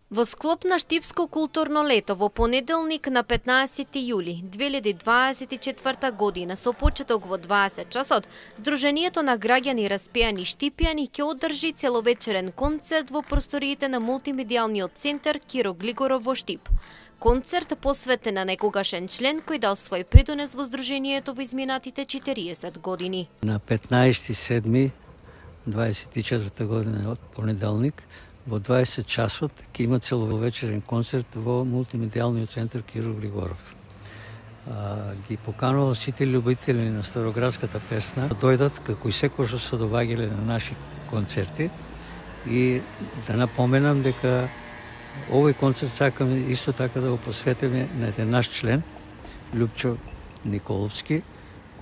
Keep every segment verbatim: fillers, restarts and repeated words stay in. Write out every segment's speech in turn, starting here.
Во склоп на Штипско културно лето во понеделник на петнаесети јули две илјади дваесет и четврта година со почеток во дваесет часот, Сдруженијето на граѓани распеани Штипјани ќе одржи целовечерен концерт во просториите на мултимедијалниот центар Киро Глигоров во Штип. Концерт посветен на некогашен член кој дал свој придонес во Сдруженијето во изминатите четириесет години. На петнаесети седми дваесет и четврта година од понеделник во дваесет часот ќе има целовечерен концерт во мултимедијалниот центар Киро Глигоров. А, ги поканувам сите љубители на староградската песна да дојдат како и секој што се доваѓале на наши концерти и да напоменам дека овој концерт сакаме исто така да го посветиме на еден наш член, Љупчо Николовски,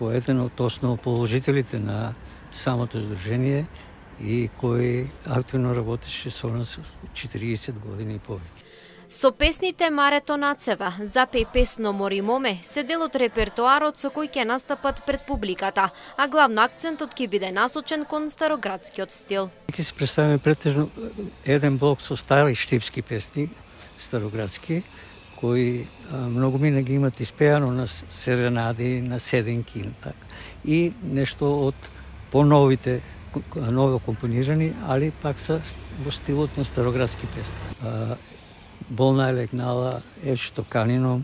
кој е еден од основоположителите на самото здружение и кој активно работеше со нас четириесет години и повеќе. Со песните Марето нацева, Запеј песно Мори моме се дел од репертоарот со кој ќе настапат пред публиката, а главно акцентот ќе биде насочен кон староградскиот стил. Ќе се представиме претежно еден блок со стари штипски песни, староградски, кои а, многу мина ги имат испеано на серенади, на седенки и така. И нешто од поновите ново компонирани, али пак са во стилот на староградски песни. Болна е легнала, Ечто канино,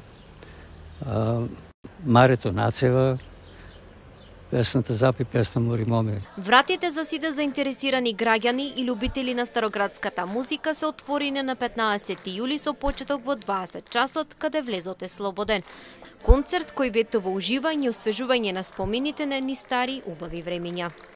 Марето нацева, песната Запеј песно Мори моме. Вратите за сите заинтересирани граѓани и љубители на староградската музика се отворени на петнаесети јули со почеток во дваесет часот, каде влезот е слободен. Концерт кој ветува уживање и освежување на спомените на едни стари убави времиња.